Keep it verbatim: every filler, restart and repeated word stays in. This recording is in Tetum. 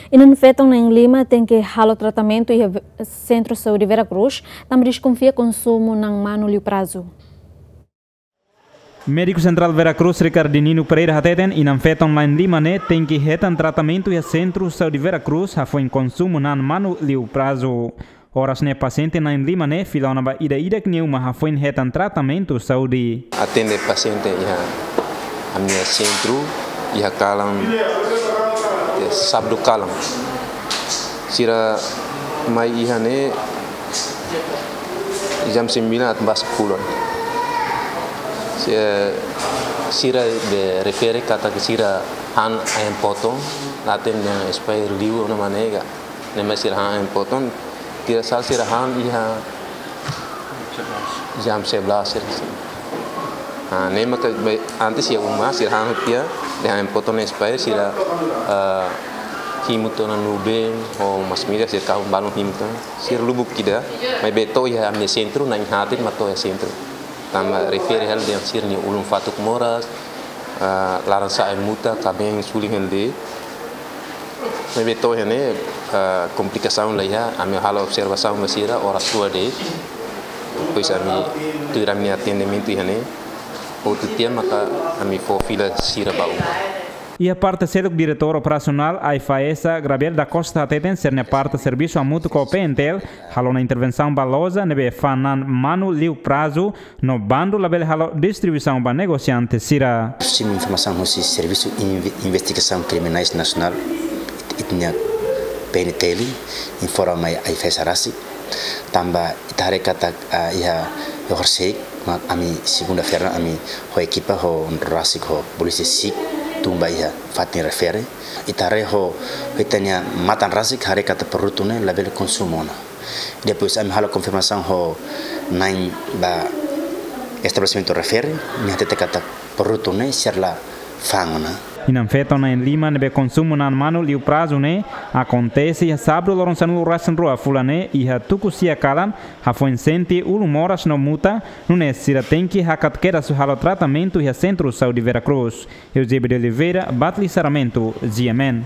Inan-feton na'in-lima tenke halo tratamentu iha Ve-, Sentru Saúde Vera Cruz, tanba deskonfia konsumu na'an manu liu prazu. Médiku Sentrál Vera Cruz, Ricardinino Pereira hateten, inan-feton na'in-lima ne'e tenke hetan tratamentu iha Sentru Saúde Vera Cruz, hafoin konsumu na'an manu liu prazu. Oras ne'e pasiente na'in-lima ne'e fila ona ba ida-idak nia uma hafoin hetan tratamentu saúde. Atende pasiente iha ami-nia sentru iha kalan, eh, sábadu kalan. Sira mai iha ne'e jam sembilan atu ba sepuluh. Si-, sira be refere katak sira han ayam potong, laten yang expire liu ona manega. Ne'e mai sira han ayam potong, tidak salah sira han iha jam sebelas sira. Ha, ne'e maka be, antes iha uma sira han tiha, dehan ayam potong ne'e expire, sira, eh, himu tiha ona nubin, ho masin-midar sira kahun balun himu tiha ona. Sira lubuk ida, maibé to'o iha ami-nia sentru, na'in-haat mak to'o iha sentru. Tanba refere hela dehan sira-nia ulun fatuk moras, ah, laran-sa'e muta, kabeen sulin hela de'it. Maibé to'o iha ne'e, ah, komplikasaun la iha, ami halo observasaun ba sira, oras rua de'it. Depois ami tuir ami-nia atendimentu iha ne'e. Hotu tiha maka ami fó fila sira ba uma. Iha parte seluk, Diretór Operasionál AIFAESA, Gabriel da Costa hateten, sira-nia parte servisu hamutuk ho PNTL halo ona intervensaun ba loja ne'ebé fa'an na'an manu liu prazu, no bandu labele halo distribuisaun ba negosiante sira. Simu informasaun husi Servisu Inve-, Investigasaun Kriminais Nasionál, ita-nia PNTL, informa mai AIFAESA rasik, tanba ita haree katak, ah, iha, iha horisehik, mak ami segunda-feira ami ho ekipa ho rasik ho polísia sik tun ba iha fatin refere. Ita haree ho, ho ita-nia matan rasik haree katak produtu ne'e labele konsumu ona. Depois ami halo konfirmasaun ho na'in ba estabelesimentu refere, nia hatete katak produtu ne'e sira la fa'an ona. Inan-feton na'in-lima ne'ebé konsumu na'an manu liu prazu ne'e akontese iha sábadu loron sanulu-resin-rua fulan ne'e iha tuku sia kalan, hafoin sente ulun moras no muta, nune'e sira tenke hakat kedas halo tratamentu iha Sentru Saúde Vera Cruz. Eusébio de Oliveira, Batli Sarmento, G M N.